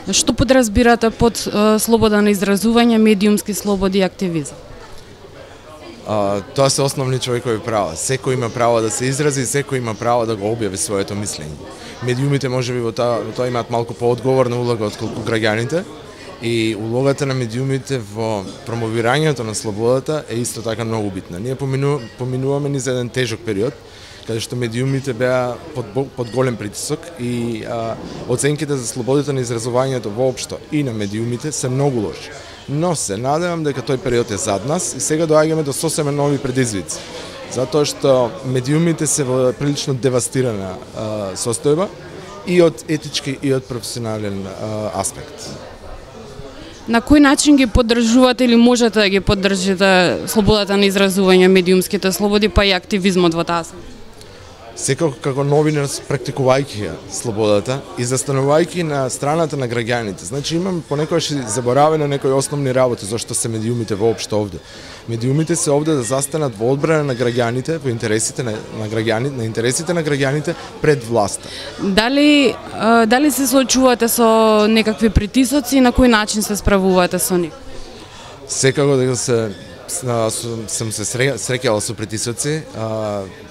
Што подразбирате под слобода на изразување, медиумски слободи и активизам? Тоа се основни човекови права. Секој има право да се изрази, секој има право да го објави своето мислење. Медиумите можеби во тоа имаат малку поодговорна улога отколку граѓаните, и улогата на медиумите во промовирањето на слободата е исто така многу битна. Ние поминуваме низ еден тежок период, каде што медиумите беа под голем притисок и оценките за слободата на изразувањето воопшто и на медиумите се многу лоши. Но се надевам дека тој период е зад нас и сега доаѓаме до сосема нови предизвици. Затоа што медиумите се во прилично девастирана состојба и од етички и од професионален аспект. На кој начин ги поддржувате или можете да ги поддржите слободата на изразување, медиумските слободи, па и активизмот во таа? Секако како новинар практикувајќи ја слободата и застанувајќи на страната на граѓаните. Значи имам понекогаш заборавено некои основни работи зашто се медиумите воопшто овде. Медиумите се овде да застанат во одбрана на граѓаните, во интересите на интересите на граѓаните пред власта. Дали се соочувате со некакви притисоци и на кој начин се справувате со нив? Секако дека сум се среќал со притисоци,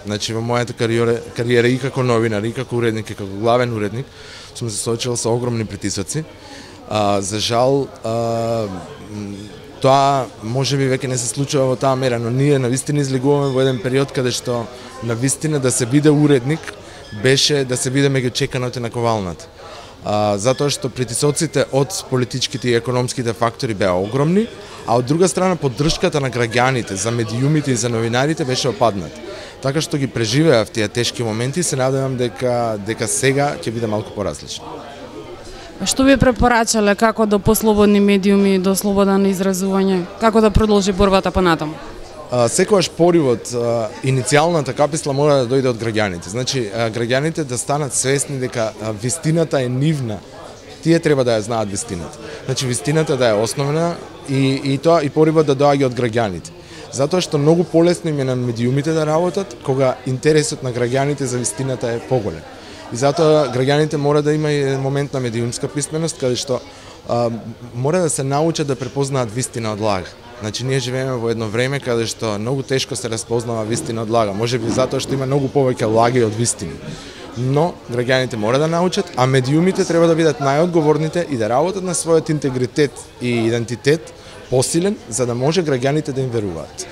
значи во мојата кариера и како новинар, и како уредник, и како главен уредник, сум се соочил со огромни притисоци. За жал, тоа можеби веќе не се случува во таа мера, но ние навистина излегуваме во еден период каде што навистина да се биде уредник беше да се биде меѓу чеканото на ковалната. Затоа што притисоците од политичките и економските фактори беа огромни, а од друга страна поддршката на граѓаните за медиумите и за новинарите беше опаднат. Така што ги преживеав тие тешки моменти и се надевам дека сега ќе биде малку поразлично. Што би препорачале како до послободни медиуми, до слобода на изразување, како да продолжи борбата понатаму? Секогаш поривот, иницијалната каписла мора да дојде од граѓаните. Значи, граѓаните да станат свесни дека вистината е нивна. Тие треба да ја знаат вистината. Значи, вистината да е основна и поривот да доаѓа од граѓаните. Затоа што многу полесно им е на медиумите да работат, кога интересот на граѓаните за вистината е поголем. И затоа граѓаните мора да има и момент на медиумска писменост, каде што мора да се научат да препознаат вистина од лага. Значи, ние живееме во едно време каде што многу тешко се разпознава вистина од лага, можеби затоа што има многу повеќе лаги од вистини. Но граѓаните мора да научат, а медиумите треба да бидат најодговорните и да работат на својот интегритет и идентитет посилен, за да може граѓаните да им веруваат.